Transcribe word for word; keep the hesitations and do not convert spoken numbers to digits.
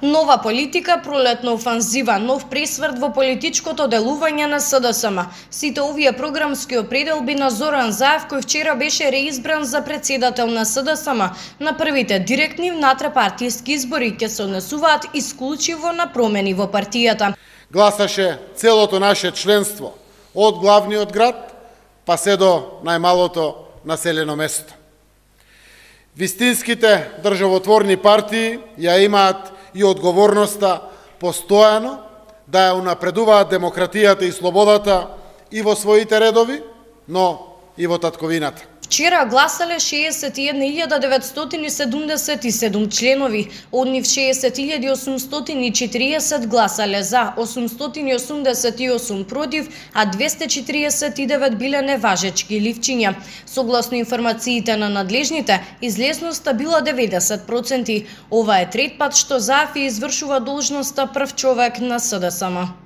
Нова политика, пролетна офанзива, нов пресврт во политичкото делување на СДСМ. Сите овие програмски определби на Зоран Заев, кој вчера беше реизбран за председател на СДСМ, на првите директни внатрепартиски избори ќе се однесуваат исклучиво на промени во партијата. Гласаше целото наше членство, од главниот град па се до најмалото населено место. Вистинските државотворни партии ја имаат и одговорноста постојано да ја унапредуваат демократијата и слободата и во своите редови, но и во татковината. Вчера гласале шеесет и една илјада деветстотини седумдесет и седум членови, од нив шеесет илјади осумстотини и четириесет гласале за, осумстотини и осумдесет и осум против, а двесте и четириесет и девет биле неважечки ливчиња. Согласно информациите на надлежните, излезноста била деветдесет проценти. Ова е трет пат што Заев извршува должноста прв човек на СДСМ.